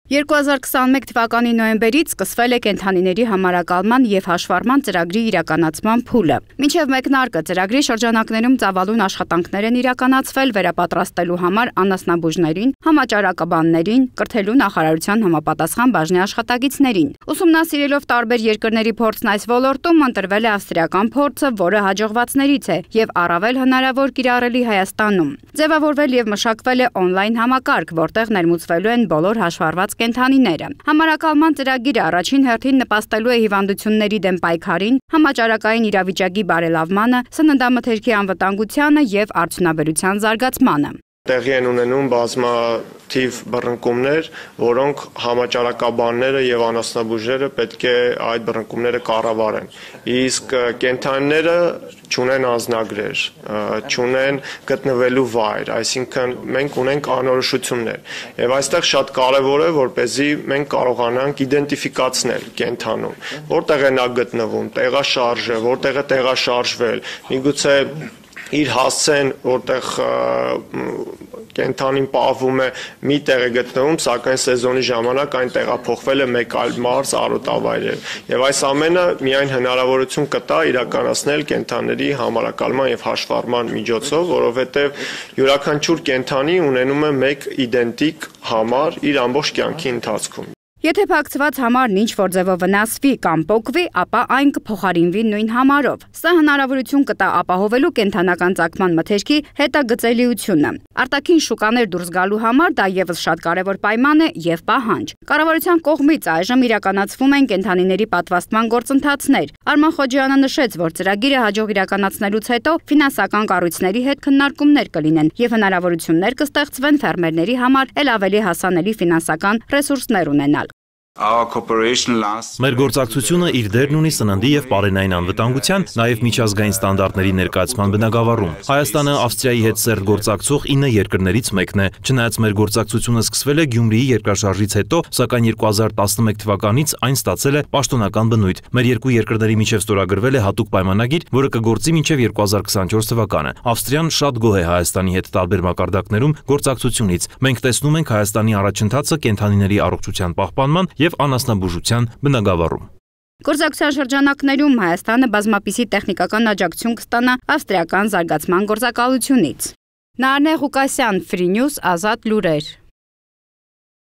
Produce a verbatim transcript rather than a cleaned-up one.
երկու հազար քսաներկու թվականի նոյեմբերից սկսվել է կենդանիների համարակալման և հաշվառման ծրագրի իրականացման փուլը։ Մինչև մեկնարկը ծրագրի շրջանակներում ծավալուն աշխատանքներ են իրականացվել վերապատրաստելու համար անասնաբուժներին, համաճարակաբաններին, կրթելու նախարարության համապատասխան բաժնի աշխատակիցներին։ Ուսումնասիրելով տարբեր երկրների փորձն այս ոլորտում ընտրվել է ավստրիական փորձը, որը հաջողվածներից է և առավել հնարավոր կիրառելի Հայաստանում։ Ձևավորվել և մշակվել է օնլայն համակարգ, որտեղ ներմուծվելու են բոլոր հաշվառված կենդանիները։ Համարակալման ծրագիրը առաջին հերթին նպաստելու է հիվանդությունների դեմ պայքարին, համաճարակային իրավիճակի բարելավմանը, սննդամթերքի անվտանգությանը և արդյունաբերության զարգացմանը։ Տեղի են ունենում բազմաթիվ բռնկումներ, որոնք համաճարակաբանները և անասնաբուժերը պետք է այդ բռնկումները կառավարեն։ Իսկ կենդանիները չունեն անձնագրեր, չունեն գտնվելու վայր, այսինքն մենք ունենք անորոշություններ։ Եվ այստեղ շատ կարևոր է, որպեսզի մենք կարողանանք իդենտիֆիկացնել կենդանուն, որտեղ է նա գտնվում, տեղաշարժը, որտեղ է տեղաշարժվել, միգուցե իր հասցեն, որտեղ կենդանին պահվում է, մի տեղ է գտնվում, սակայն սեզոնի ժամանակ այն տեղափոխվել է մեկ այլ մարզ, արոտավայրեր։ Եվ այս ամենը միայն հնարավորություն կտա իրականացնել կենդանիների համարակալման և հաշվառման միջոցով, որովհետև յուրաքանչյուր կենդանի ունենում է մեկ իդենտիկ համար իր ամբողջ կյանքի ընթացքում։ Եթե փակցված համարն ինչ-որ ձևով վնասվի կամ պոկվի, ապա այն կփոխարինվի նույն համարով։ Սա հնարավորություն կտա ապահովելու կենդանական ծագման մթերքի հետագծելիությունը։ Արտաքին շուկաներ դուրս գալու համար դա ևս շատ կարևոր պայման է և պահանջ։ Կառավարության կողմից այժմ իրականացվում են կենդանիների պատվաստման գործընթացներ։ Արման Խոջյանը նշեց, որ ծրագիրը հաջող իրականացնելուց հետո ֆինանսական կառույցների հետ քննարկումներ կլինեն և հնարավորություններ կստեղծվեն ֆերմերների համար էլ ավելի հասանելի ֆինանսական ռեսուրսներ ունենալ։ Մեր գործակցությունը իր դերն ունի սննդի և պարենային անվտանգության, նաև միջազգային ստանդարտների ներկայացման բնագավառում։ Հայաստանը Ավստրիայի հետ սերտ գործակցող ինը երկրներից մեկն է։ Չնայած մեր գործակցությունը սկսվել է Գյումրիի երկրաշարժից հետո, սակայն երկու հազար տասնմեկ թվականից այն ստացել է պաշտոնական բնույթ։ Մեր երկու երկրների միջև ստորագրվել է հատուկ պայմանագիր, որը կգործի մինչև երկու հազար քսանչորս թվականը։ Ավստրիան շատ գոհ է Հայաստանի հետ տարբեր մակարդակներում գործակցությունից։ Մենք տեսնում ենք Հայաստանի առաջընթացը կենդանիների առողջության պահպանման և անասնաբուժության բնագավառում։ Գործակցության շրջանակներում Հայաստանը բազմապիսի տեխնիկական աջակցություն կստանա ավստրիական զարգացման գործակալությունից։ Նարնե Ղուկասյան, Free News, Ազատ լուրեր։